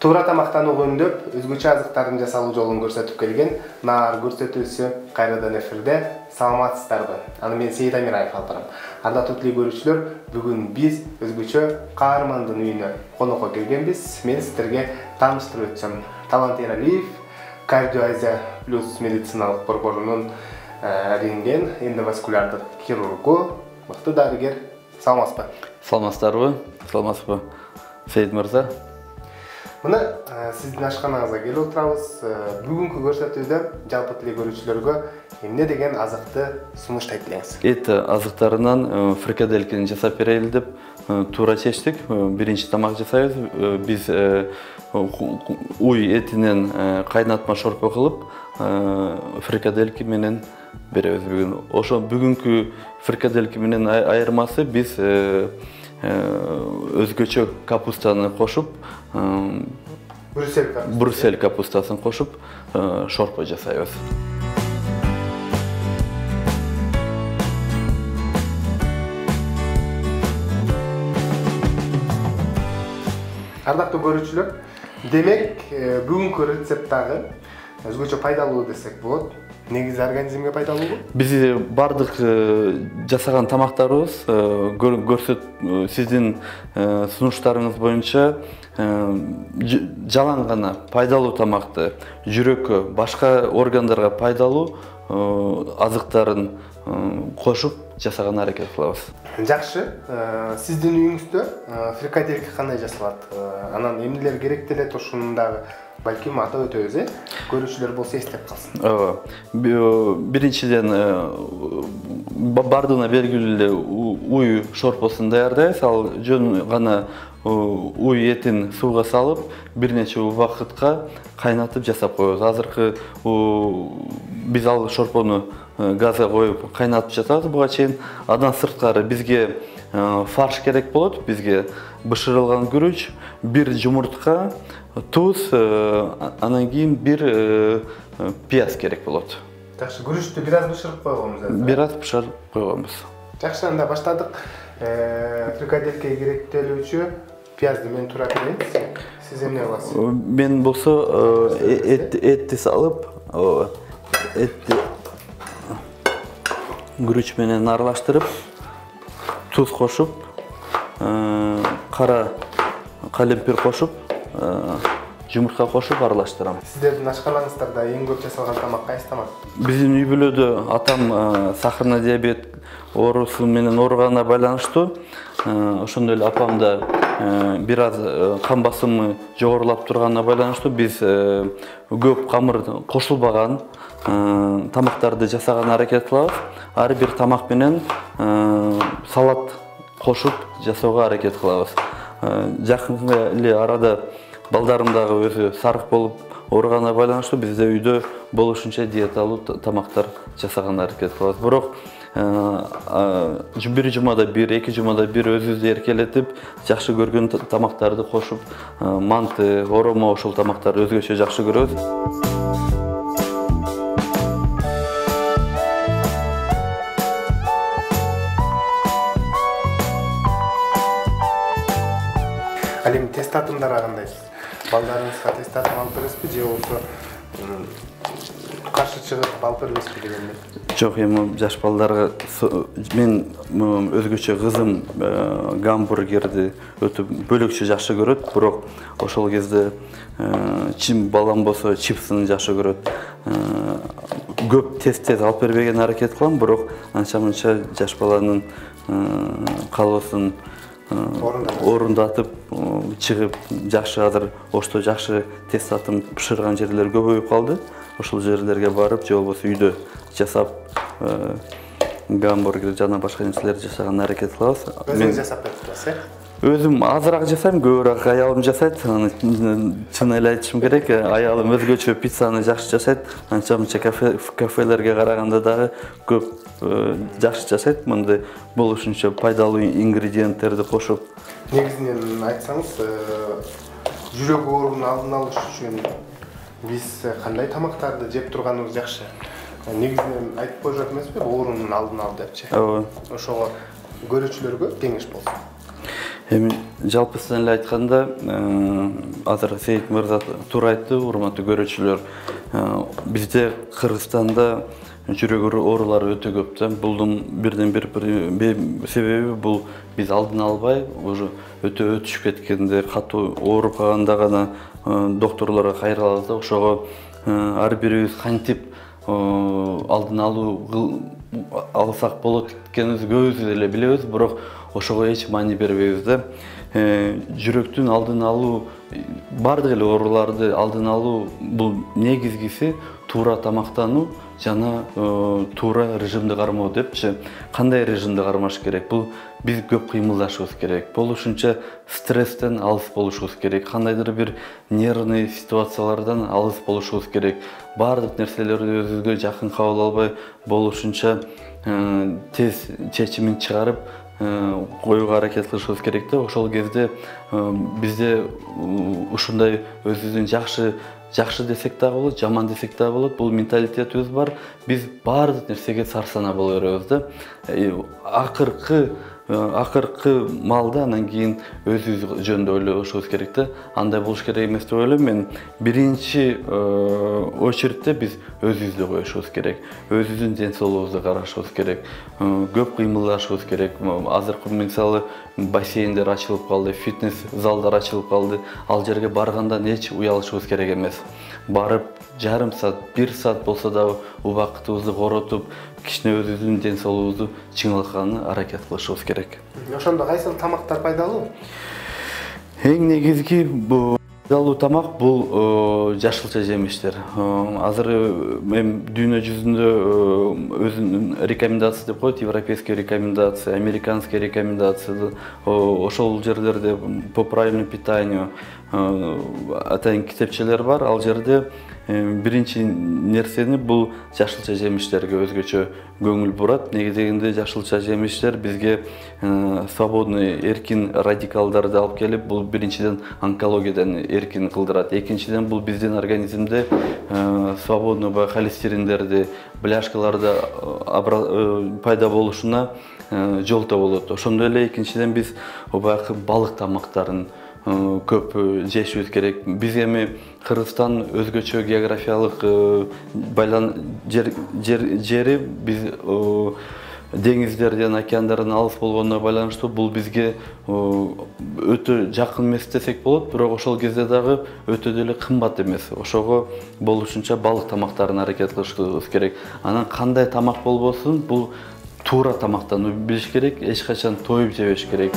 Туура тамактануу көөндөп, өзгөчө азыктардын жасалуу жолун көрсөтүп келген Наар көрсөтүүсү кайрадан эфирде. Саламатсыздарбы? Аны мен Сейит Амираев алып. Ардактуу көрүүчүлөр, бүгүн биз өзгөчө каармандын үйүнө конокко келгенбиз. Мен сиздерге тааныштырып өтсөм, Талант Эралиев, Кардио Азия плюс медициналык борборунун рентген эндоваскулярдык хирургу, мыкты дарыгер. Саламатсызбы? Саламатсыздарбы? Саламатсызбы, Сейит мырза? Мына сиздин ашканаңызга келип отурабыз. Бүгүнкү көрсөтүүдө жалпы көрүүчүлөргө эмне деген азыкты сунуштайт элеңиз? Эт азыктарынан фрикаделькини жасап берели деп туура чечтик. Биринчи тамак жасайбыз. Биз уй этинен кайнатма шорпо кылып, фрикадельки менен беребиз бүгүн. Ошо бүгүнкү фрикадельки менен айырмасы биз өзгөчө капустаны кошуп, Брюссель капустасын кошуп шорпо жасайбыз. Ардактуу көрүүчүлөр, демек бүгүнкү рецепттагы өзгөчө пайдалуу десек болот. Негизи организмге пайдалуубу? Биз бардык жасаган тамактарыбыз сиздин сунуштарыңыз боюнча жалаң гана пайдалуу тамакты, жүрөккө, башка органдарга пайдалуу азыктарын кошуп жасаганга аракет кылабыз. Жакшы. Сиздин үйүңүздө фрикадельки кандай жасалат? Анан эмнелер керектелет ошону дагы балким атап өтөбүз, көрүүчүлөр болсо эстеп калсын. Биринчиден бардыгына белгилүү эле уй шорпосун даярдайбыз. Ал жөн гана уй этин сууга салып, бир нече убакытка кайнатып жасап коебуз. Азыркы биз ал шорпону газга коюп кайнатып жасабыз буга чейин. Андан сырткары бизге фарш керек болот. Бизге бышырылган күрүч, бир жумуртка, туз, анан кийин бир пияз керек болот. Жакшы, күрүчтү бир аз бышырып койгонбуз азыр. Бир аз бышырып койгонбуз. Жакшы, анда баштадык. Фрикадельке керектелүүчү пиязды мен туура берейин. Сиз эмне кыласыз? Мен болсо этти салып, этти күрүч менен аралаштырып, туз кошуп, кара калемпир кошуп, жумуртка кошуп аралаштырам. Сиздердин ашканаңыздарда эң көп жасалган тамак кайсы тамак? Биздин үй бүлөдө атам сахарный диабет оорусу менен ооруганына байланыштуу. Ошондой эле апам да бир аз кан басымы жогорулап турганына байланыштуу биз көп камыр кошулбаган тамактарды жасаганга аракет кылабыз. Ар бир тамак менен салат кошуп жасоого аракет кылабыз. Жакын эле арада балдарым дагы өзү сарык болуп ооруганына байланыштуу бизде үйдө болушунча диеталуу тамактар жасаганга аракет кылабыз. Бирок бир жумада бир, эки жумада бир өзүбүздү эркелетип, жакшы көргөн тамактарды кошуп, манты, оромо ошол тамактарды өзгөчө жакшы көрөбүз. Ал эми тест татымдарга кандайсыз? Балдарыңызга тест татым алып бересизби же болбосо каршы чыгып алып бербейсизби дегенде? Жок, эми жаш балдарга мен өзгөчө кызым гамбургерди өтө бөлөкчө жакшы көрөт, бирок ошол кезде балам болсо чипсыны жакшы көрөт. Көп тест алып бербегенге аракет кылам, бирок анча-мынча жаш баланын каалоосун орундатып чыгып, жакшы азыр Ошто жакшы тест татым бышырган жерлер көбөйүп калды. Ошол жерлерге барып, же болбосо үйдө жасап гамбургер жана башка нерселерди жасаганга аракет кылабыз. Өзүңүз жасап бересизби? Өзүм азыраак жасайм, көбүрөөк аялым жасайт. Чын эле айтышым керек, аялым өзгөчө пиццаны жакшы жасайт. Анча-мынча кафелерге караганда дагы көп жакшы жасайт. Мындай болушунча пайдалуу ингредиенттерди кошуп. Негизинен айтсаңыз, жүрөк оорунун алдын алыш үчүн биз кандай тамактарды жеп турганыбыз жакшы? Негизинен айтып коюшат эмеспи, оорунун алдын ал депчи. Ооба. Ошого көрүүчүлөргө кеңеш болсун. Эми жалпысынан эле айтканда, азыр Сейит мырза туура айтты, урматтуу көрүүчүлөр. Бизде Кыргызстанда жүрөк оорулары өтө көп да. Булдун бирден бир себеби бул биз алдын албай, уже өтө өтүшүп кеткенде, катуу ооруп калганда гана докторлорго кайрылабыз да. Ошого ар бирибиз кантип алдын алсак болот экенибизди көбүбүз деле билебиз, бирок ошого эч маани бербейбиз да. Жүрөктүн алдын алуу, бардык эле ооруларды алдын алуу бул негизгиси туура тамактануу жана туура режимди кармоо депчи. Кандай режимди кармаш керек? Бул биз көп кыймылдашыбыз керек. Болушунча стресстен алыс болушубуз керек. Кандайдыр бир нервный ситуациялардан алыс болушубуз керек. Бардык нерселерди өзүбүзгө жакын кабыл албай, болушунча тез чечимин чыгарып коюуга аракет кылышыбыз керек да. Ошол кезде бизде ушундай өзүбүздүн жакшы десек дагы болот, жаман десек дагы болот, бул менталитетибиз бар. Биз бардык нерсеге сарсана боло беребиз да. Акыркы маалда анан кийин өзүбүз жөнүндө ойлошубуз керек да. Андай болуш керек эмес деп ойлойм мен. Биринчи очередте биз өзүбүздү коюшубуз керек. Өзүбүздүн ден соолугубузду карашыбыз керек. Көп кыймылдашыбыз керек. Азыркы мисалы бассейндер ачылып калды, фитнес залдар ачылып калды. Ал жерге баргандан эч уялышыбыз керек эмес. Барып жарым саат, 1 саат болсо дагы убакытыбызды коротуп, кичине өзүбүздүн ден соолугубузду чыңалтканга аракет кылышыбыз керек. Ошондо кайсыл тамактар пайдалуу? Эң негизги пайдалуу тамак бул жашылча жемиштер. Азыр эми дүйнө жүзүндө өзүнүн рекомендация деп коет, европейский рекомендация, американский рекомендация. Ошол жерлерде по правильному питанию атайын китепчелер бар. Ал жерде биринчи нерсени бул жашылча жемиштерге өзгөчө көңүл бурат. Негизинде жашылча жемиштер бизге свободный, эркин радикалдарды алып келип, бул биринчиден онкологиядан эркин кылдырат. Экинчиден бул биздин организмде свободный холестериндерди, бляшкаларды пайда болушуна жолто болот. Ошондой эле экинчиден биз баягы балык тамактарын көп жешибиз керек. Биз эми Кыргызстан өзгөчө географиялык жери, биз деңиздерден, океандардан алыс болгонуна байланыштуу бул бизге өтө жакын эмес десек болот, бирок ошол кезде дагы өтө деле кымбат эмес. Ошого болушунча балык тамактарын аракет кылышыбыз керек. Анан кандай тамак болбосун, бул туура тамактанууну билиш керек, эч качан тоюп жебеш керек.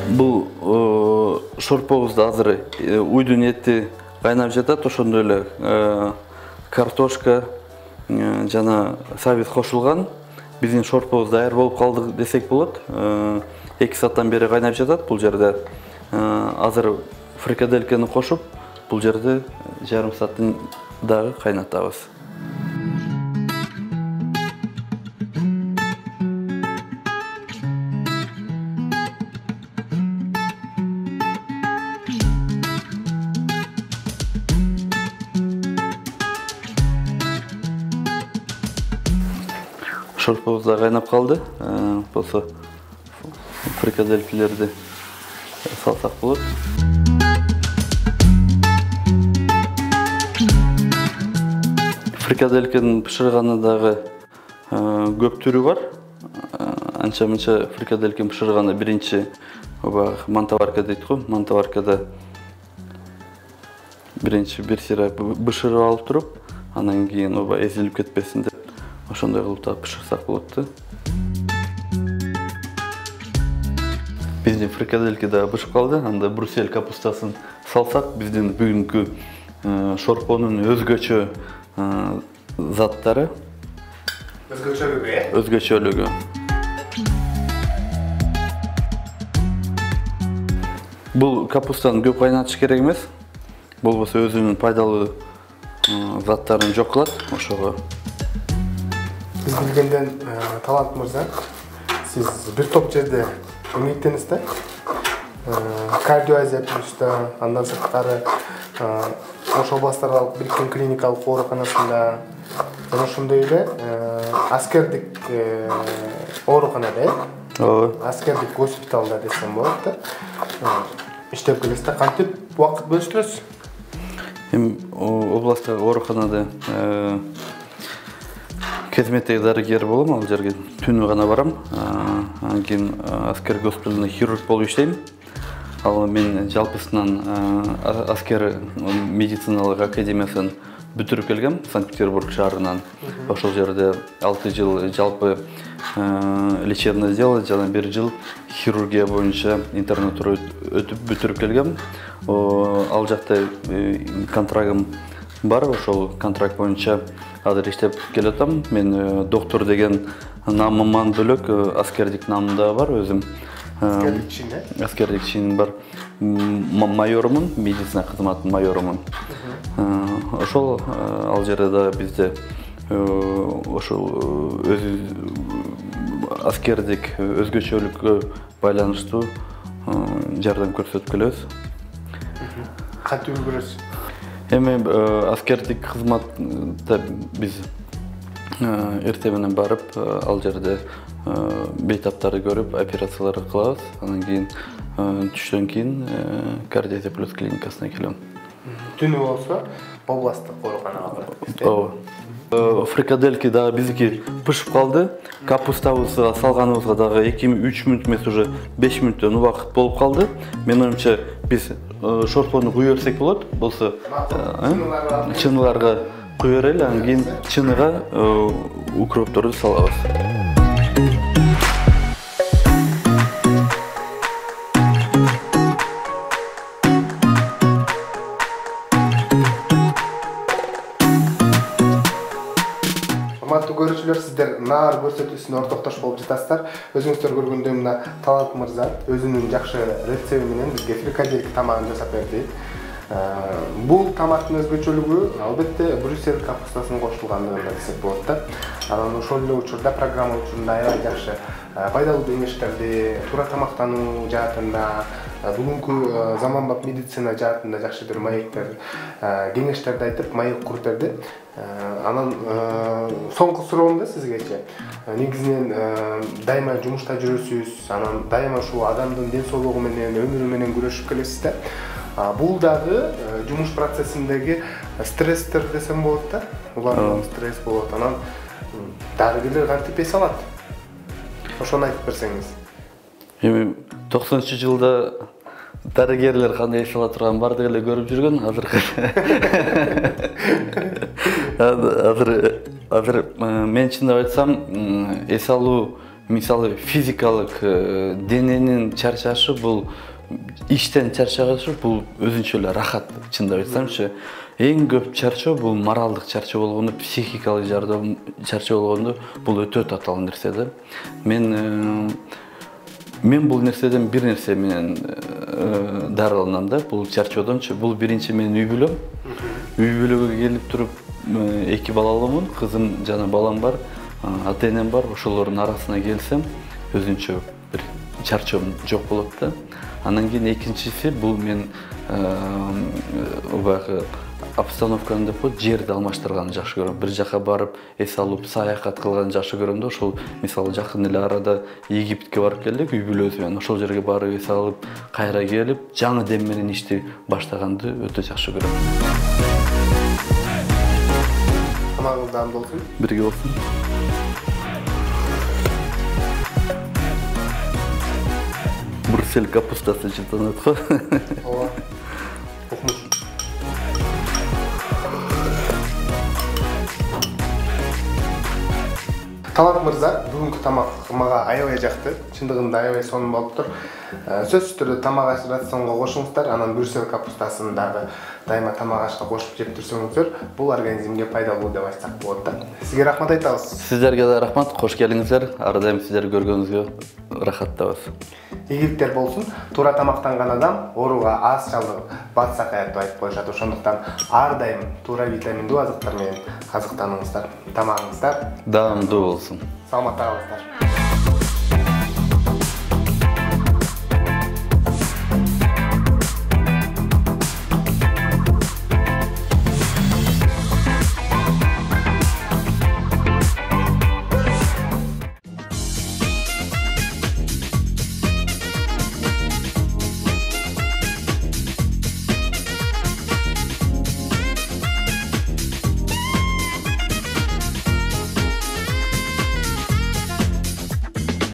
Бул шорпобузда азыр уйдун эти кайнап жатат, ошондой эле картошка жана сабиз кошулган. Биздин шорпобуз даяр болуп калды десек болот. 2 сааттан бери кайнап жатат бул жерде. Азыр фрикаделькени кошуп, бул жерде жарым сааттан дагы кайнатабыз. Шорпобуз да кайнап калды. Болсо фрикаделькилерди салсак болот. Фрикаделькенин бышырганы дагы көп түрү бар. Анча-мынча фрикаделькени бышырганда биринчи мантоварка дейт го. Мантоваркада биринчи бир сыйра бышырып алып туруп, анан кийин эзилип кетпесин деп ошондой кылып да бышырсак болот да. Биздин фрикадельки да бышып калды. Анда бруссель капустасын салсак, биздин бүгүнкү шорпонун өзгөчө заттары, өзгөчөлүгү. Бул капустаны көп кайнатыш керек эмес. Болбосо өзүнүн пайдалуу заттарын жок кылат. Ошого Сиз билгенден Талант мырза, сиз бир топ жерде эмгектенесиз да? Кардио Азия плюста, андан сырткары Ош областарда бириккен клиникалык ооруканасында, жана ошондой эле аскердик ооруканада Ооба. Аскердик госпиталда десем болот да. Иштеп келесиз, кантип убакыт бөлүштүрөсүз? Эми областтагы ооруканада кезметтеги дарыгер болом, ал жерге түнү гана барам. Анан кийин аскер госпиталында хирург болуп иштейм. Ал мен жалпысынан аскер медициналык академиясын бүтүрүп келгем, Санкт-Петербург шаарынан. Ошол жерде 6 жыл жалпы лечебный дело жана 1 жыл хирургия боюнча интернатура өтүп бүтүрүп келгем. Ал жакта контрагым бар, ошол контракт боюнча азыр иштеп келатам. Мен доктор деген намыман бөлөк аскердик намым да бар өзүм. Аскердик чин бар. Майорумун, медицина кызматынын майорумун. Ошол ал жерде да бизде ошол аскердик өзгөчөлүккө байланыштуу жардам көрсөтүп келебиз. Кантип үлгүрөсүз? Эми аскердик кызматта биз эртең менен барып, ал жерде бейтаптарды көрүп, операцияларды кылабыз. Анан кийин түштөн кийин Кардио плюс клиникасына келем. Түнү болсо областтык ооруканага барат. Ооба. Фрикадельки дагы биздики пышып калды. Капустабызга салганыбызга дагы 2-3 мүнөт эмес, уже 5 мүнөттөн убакыт болуп калды. Менин оюмча биз шорпону куя берсек болот. Болсо чыныйларга куя берели, анан кийин чыныга укропторду салабыз. Урматтуу көрүүчүлөр, сиздер наар көрсөтүүсүнө ортоктош болуп жатасыздар. Өзүңүздөр көргөндөй мына Талант мырза өзүнүн жакшы рецепти менен бизге фрикадельки тамагын жасап берди. Бул тамактын өзгөчөлүгү албетте Брюссель капустасынын кошулгандыгында десек болот да. Анан ошол эле учурда программа учурунда аябай жакшы пайдалуу кеңештерди, туура тамактануу жаатында, бүгүнкү заманбап медицина жаатында жакшы бир маектер, кеңештерди айтып, маек куруп берди. Анан соңку суроом да сизгечи. Негизинен дайыма жумушта жүрөсүз, анан дайыма ушул адамдын ден соолугу менен, өмүрү менен күрөшүп келесиз да. Бул дагы жумуш процессиндеги стресстер десем болот да. Улардан стресс болот. Анан дарыгерлер кантип эс алат? Ошону айтып берсеңиз. Эми 90-жылда дарыгерлер кандай эс ала турган бардык эле көрүп жүргөн. Азыр мен чындап айтсам, эс алуу, мисалы физикалык дененин чарчашы, бул иштен чарчашы, бул өзүнчө эле рахат. Чындап айтсамчы, эң көп чарчоо бул моралдык чарчоо болгондо, психикалык чарчоо болгондо бул өтө татаал нерсе да. Мен бул нерседен бир нерсе менен дарыланам да, бул чарчоодончу. Бул биринчи менин үй бүлөм. Үй бүлөгө келип туруп 2 балалуумун, кызым жана балам бар, ата-энем бар. Ошолордун арасына келсем, өзүнчө бир чарчоом жок болот да. Анан кийин экинчиси бул мен убагы обстановканы деп коет, жерди алмаштырганды жакшы көрөм. Бир жака барып, эс алып, саякат кылганды жакшы көрөм да. Ошол мисалы жакын эле арада Египетке барып келдик үй бүлөбүз менен. Ошол жерге барып эс алып, кайра келип, жаңы дем менен ишти баштаганды өтө жакшы көрөм. Тамагыңыз дам болсун. Бирге болсун. Брюссель капустасы жыттанат го. Ооба. Укмуш. Талант мырза, бүгүнкү тамак мага аябай жакты. Чындыгында аябай сонун болуптур. Сөзсүз түрдө тамак аш рационго кошуңуздар, анан Брюссель капустасын дагы дайыма тамак ашка кошуп жеп турсоңуздар, бул организмге пайдалуу деп айтсак болот да. Сизге рахмат айтабыз. Сиздерге да рахмат, кош келиңиздер. Ар дайым сиздерди көргөнүзгө рахаттабыз. Ийгиликтер болсун. Туура тамактанган адам ооруга аз чалдыгып, батсак аят деп айтып коюшат. Ошондуктан ар дайым туура витаминдүү азыктар менен азыктаныңыздар. Тамагыңыздар даамдуу болсун. Саламатта калыңыздар.